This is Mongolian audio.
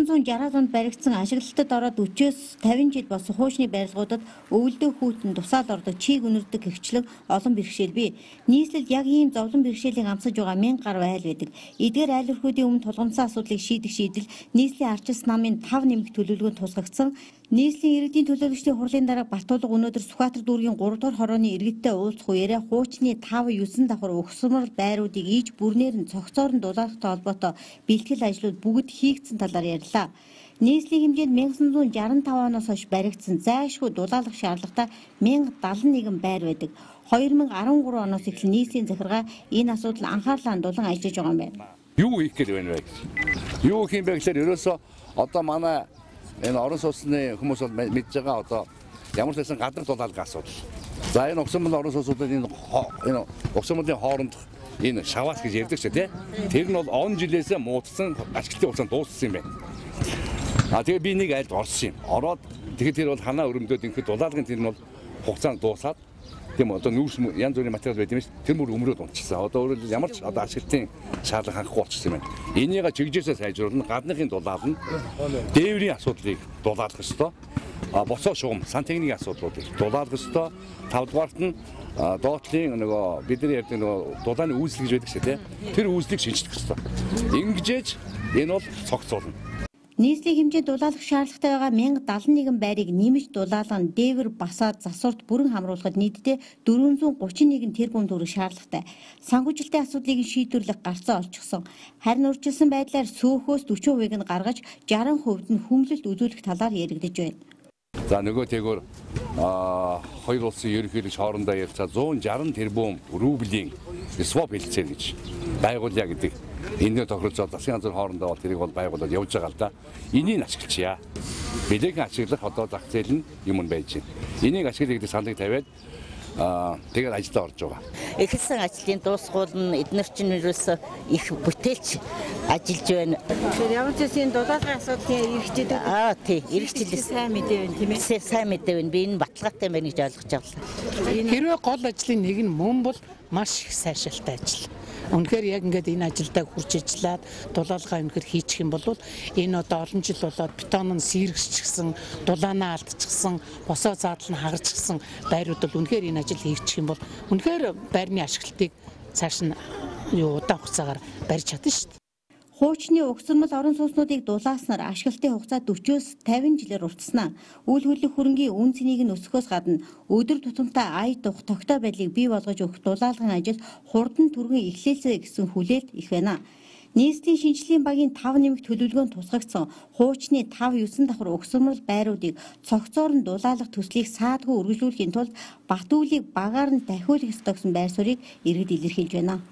1960 онд баригдсан ашиглалтад ороод 40-с 50 жил болсон хуучны барилгуудад өвөлдөө хүйтэн тусаал ордог чийг үнэрдэг гэгчлэн олон бэрхшээл бий. Нийслэлд яг ийм зовлон бэрхшээлийг амсаж байгаа 1000 гаруй айл байдаг. Эдгээр айл өрхүүдийн өмнө тулгамдсан асуудлыг шийдэх шийдэл нийслэлийн арчилсан намын 5 нэмэх төлөвлөгөөнд тусгагдсан. Нийслэлийн иргэдийн төлөөлөгчдийн хурлын дараа Бартуулга өнөөдөр Сүхбаатар дүүргийн 3 дугаар хорооны иргэдтэй уулзах үеэрээ хуучны 5-9 давхар угсармал байруудыг ийж бүрнээр нь цогцоор нь дулаалгахтай холбоотой бэлтгэл ажлууд бүгд хийгдсэн талаар ярьлаа. Нийслэлийн хэмжээнд 1965 оноос хойш баригдсан зайлшгүй дулаалгах шаардлагатай 1071 байр байдаг. 2013 оноос эхлэн нийслэлийн захиргаа энэ асуудал анхаарлаа хандуулан ажиллаж байгаа юм байна. Юу хийх гээд байна вэ? Юу хийх юм бэ гэхээр ерөөсөө одоо манай энэ орон сууцны хүмүүс бол мэдж байгаа одоо ямар ч байсан гадар дулаалгын асуудал. За энэ угсармал орон сууцуудад энэ угсармалын хооронд энэ шаваас гэж ярьдаг ч тийм. Тэр нь бол он жилээсээ муудсан ашиглалтын хугацаанд дууссан юм байна. Тэгээ би нэг айлд орсон юм. Ороод тэгэхээр тэр бол ханаа өрөмдөөд ингээд дулаалгын тэр нь бол хугацаанд дуусаад тийм одоо нүүрс янз бүрийн материал байд юм ш. Тэр мөр өмрөөд унтчихсан. Одоо өөрөлд ямар ч одоо ашиглалтын шаардлага хангахгүй болчихсон юм байна. Энийг чиглэжээс сайжруулна, гадныхын дулаална, дээврийн асуудлыг дулаалгах ёстой. Боцоо шугам, сантехникийн асуудлуудыг дулаалгах ёстой. 5 дугаарт нь доотлын нөгөө бидний ярьдаг нөгөө дулааны үүсэл гэж байдаг шээ тийм. Тэр үүслийг шинжлэх ёстой. Ингэжээж энэ бол цогцолно. Нийслэлийн хэмжээнд дулаалгах шаардлагатай байгаа 1071 байрыг нэмж дулаалган дээвэр басаад засварт бүрэн хамруулахад нийтдээ 431 тэрбум төгрөг шаардлагатай. Санхүүжилтийн асуудлыг шийдвэрлэх гарцаа олчихсон. Харин урьдчилсан байдлаар сөөхөөс 40% нь гаргаж 60% нь хүндлэлт үзүүлэх талаар яригдж байна. За нөгөө тэгвэр хоёр улсын ерөнхийлөгч хоорондоо ярилцаад 160 тэрбум рублийн swap хэлцээ гэж байгуулъя гэдэг. Энэ тохиролцоод засгийн газар хоорондоо бол тэрийг бол байгуулад явж байгаа л да. Энийг ашиглачаа. Билегийн ашиглах одоо зах зээл нь юм байж байна. Энийг ашиглах гэдэг саналыг тавиад тэгээд ажилдаа орж байгаа. Эхэлсэн ажлын дуусгуул нь эдгээр чинь ерөөсөө их бүтээлч ажиллаж байна. Тэгэхээр ямар ч зүйл дулаалгын асуудлын эрхчээд тий, эрхчлээс сайн мэдээ байна тийм ээ. Сайн мэдээ байна. Би энэ баталгаатай байна гэж ойлгож байгаа. Хэрвээ гол ажлын нэг нь мөн бол маш их сайшаалтай ажил. Үнэхээр яг ингээд энэ ажилдаа хурж ажиллаад дулаалгаа үнэхээр хийчих юм бол энэ одоо олон жил болоод бетон нь сэргсчихсэн, дулаанаа алдчихсан, босоо заадал нь хагарчихсан байрууд бол үнэхээр энэ ажил хийчих юм бол үнэхээр байрны ашиглалтыг цааш нь удаан хугацаагаар барьж чадна шүү дээ. Хуучны угсармал орон сууцнуудыг дулааснаар ашиглалтын хугацаа 40-с 50 жилээр уртснаа. Үйл хөдлөх хөрөнгийн үн цэнийг нь өсгөхөөс гадна өдөр тутамдаа ая дух тогтоо байдлыг бий болгож өгөх дулаалгын ажил хурдан түргэн эхлэлцээ гэсэн хүлээлт их байна. Нийслэлийн шинжилгээний багийн 5 нэмэх төлөвлөгөөнд тусгагдсан хуучны 5-9 давхар угсармал байруудыг цогцоор нь дулаалгах төслийг саадгүй үргэлжлүүлэхийн тулд Бат үүлийг багаар нь дахиулах ёстой гэсэн байр суурийг иргэд илэрхийлж байна.